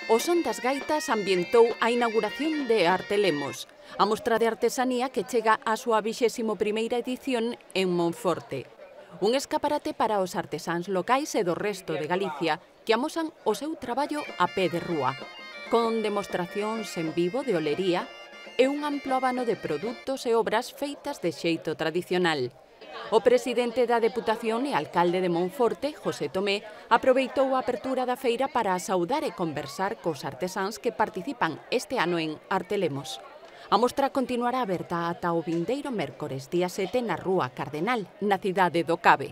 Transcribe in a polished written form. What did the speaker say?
O son das gaitas ambientou a inauguración de Artelemos, a mostra de artesanía que chega á súa 21ª edición en Monforte. Un escaparate para os artesáns locais e do resto de Galicia que amosan o seu traballo a pé de rúa, con demostracións en vivo de olería e un amplo abano de produtos e obras feitas de xeito tradicional. O presidente da Deputación e alcalde de Monforte, José Tomé, aproveitou a apertura da feira para saudar e conversar cos artesáns que participan este ano en Artelemos. A mostra continuará aberta ata o vindeiro mércores día 7 na Rúa Cardenal, na cidade do Cabe.